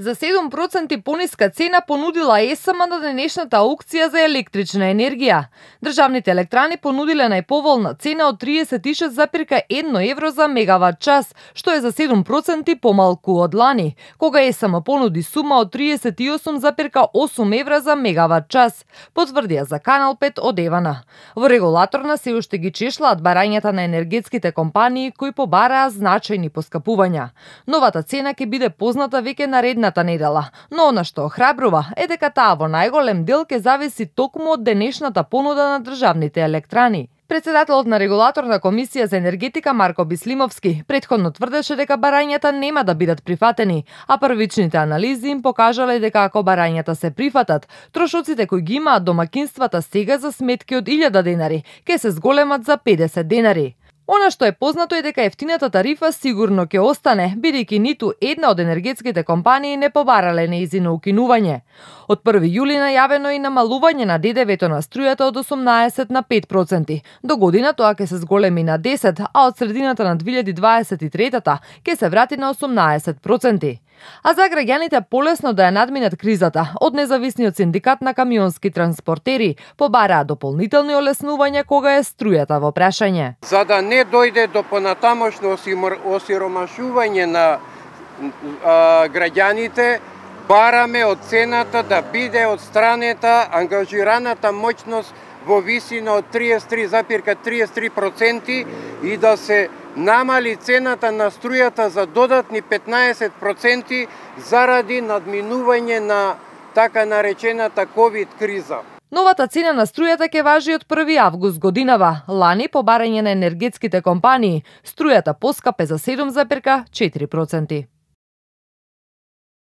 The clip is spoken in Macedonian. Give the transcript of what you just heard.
За 7% пониска цена понудила ЕСМ на денешната аукција за електрична енергија. Државните електрани понудиле најповолна цена од 36,1 евро за мегават час, што е за 7% помалку од лани, кога ЕСМ понуди сума од 38,8 евра за мегават час, потврдија за Канал 5 од Евана. Во регулаторна се уште ги чешлаат барањата на енергетските компании кои побараа значајни поскапувања. Новата цена ќе биде позната веќе наредната недела, но она што охрабрува е дека таа во најголем дел ќе зависи токму од денешната понуда на државните електрани. Председателот на регулаторна комисија за енергетика Марко Бислимовски претходно тврдеше дека барањата нема да бидат прифатени, а првичните анализи им покажале дека ако барањата се прифатат, трошоците кои ги имаат домакинствата сега за сметки од 1000 денари ќе се зголемат за 50 денари. Она што е познато е дека ефтината тарифа сигурно ќе остане, бидејќи ниту една од енергетските компании не побарале нејзино укинување. Од 1 јули најавено и намалување на ДДВ-то на струјата од 18 на 5%. До година тоа ќе се зголеми на 10, а од средината на 2023-та ќе се врати на 18%. А за граѓаните полесно да ја надминат кризата, од независниот синдикат на камионски транспортери побараа дополнителни олеснувања кога е струјата во прашање. За да не дојде до понатамошно осиромашување на граѓаните, бараме од цената да биде одстранета ангажираната моќност во висина од 33,33% и да се намали цената на струјата за додатни 15% заради надминување на така наречената ковид криза. Новата цена на струјата ќе важи од 1 август годинава. Лани по барање на енергетските компании, струјата поскапе за 7,4%.